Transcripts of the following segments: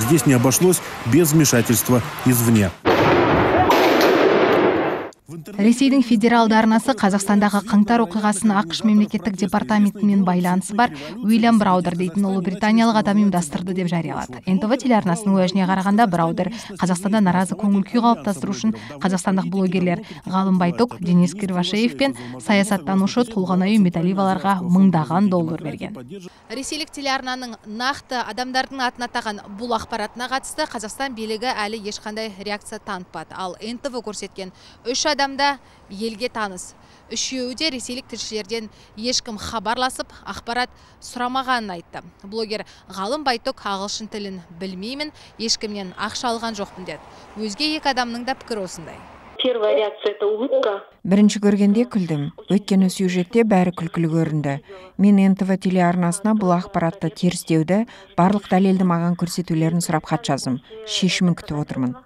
Здесь не обошлось без вмешательства извне. Ресейдің федералды арнасы Қазақстандағы қаңтар оқиғасын ақш мемлекеттік департаментімен байланысы бар Уильям Браудер дейтін ұлыбританиялық адам ұйымдастырды деп жариялады. НТВ телеарнасының уәжіне қарағанда, Браудер Қазақстанда наразы көңіл-күй қалыптастыру үшін қазақстандық блогерлер Ғалым Байтұк, Денис Кривошеев пен саясаттанушы Толғанай Үмбетәлиеваларға мыңдаған доллар берген. Ресейлік телеарнаның нақты адамдардың атын атаған бұл ақпаратына қатысты Қазақстан билігі әлі ешқандай реакция танытпады. Ал НТВ көрсеткен 3 адамда елге таныс. Үшеуі де ресейлік тілшілерден ешкім хабарласып, ақпарат сұрамағанын айтты. Блогер Ғалым Байтұк ағылшын тілін білмеймін, ешкімнен ақша алған жоқпын деді. Өзге екі адамның да пікірі осындай. Первая реакция – это улыбка. Бірінші көргенде күлдім. Өйткені сюжетте бәрі күлкілі көрінді. Мен НТВ телеарнасына бұл ақпаратты терістеуді, барлық дәлелді маған көрсетулерін сұрап хат жаздым. Шешімін күтіп отырмын.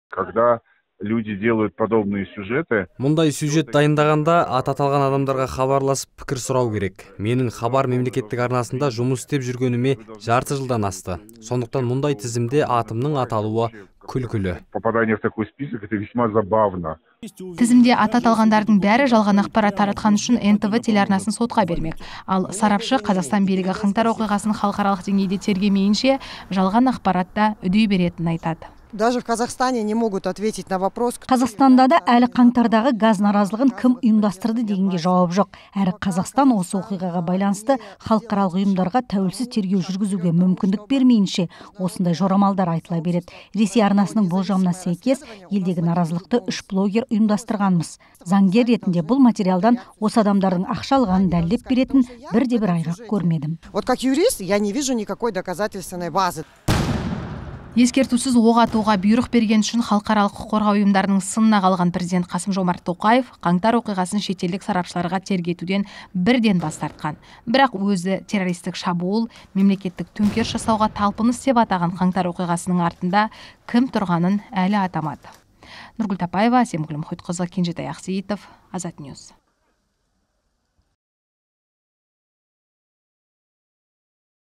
Когда люди делают подобные сюжеты. Мұндай сюжет дайындағанда аталған адамдарға хабарласып пікір сұрау керек. Менің хабар мемлекеттік арнасында жұмыс істеп жүргеніме жарты жылдан асты. Сондықтан мұндай тізімде атымның аталуы күлкілі. Попадание в такой список это весьма забавно. Тізімде аты аталғандардың бәрі жалған ақпарат таратқан үшін НТВ телеарнасын сотқа бермек. Ал сарапшы Қазақстан билігі қаңтар оқиғасын халықаралық деңгейде тергемейінше жалған ақпаратта үдей беретінін айтады. Даже в Казахстане не могут ответить на вопрос. Қазақстанда да әлі қаңтардағы газ наразылығын кім ұйымдастырды дегенге жауап жоқ. Әрі Қазақстан осы оқиғаға байланысты халықаралық ұйымдарға тәуелсіз тергеу жүргізуге мүмкіндік бермейінше осындай жорамалдар айтыла береді. Ресей арнасының болжамына сәйкес елдегі наразылықты 3 блогер ұйымдастырғанмыз. Заңгер ретінде бұл материалдан осы адамдардың ақша алғанын дәлелдеп беретін бірде-бір айғақ көрмедім. Вот как юрист я не вижу никакой доказательственной базы. Ескертусіз оқ атуға бұйрық берген үшін халықаралық құқық қорғау ұйымдарының сынына қалған президент Қасым-Жомарт Тоқаев қаңтар оқиғасын шетелдік сарапшыларға тергетуден бірден бас тартқан. Бірақ өзі террористік шабуыл, мемлекеттік төңкеріс жасауға талпыныс деп атаған қаңтар оқиғасының артында кім тұрғанын әлі атамады. Нұргүл Тапаева, Асемгүл Мұхитқызы, Кенжетай Ақсейітов, Азат Ньюс.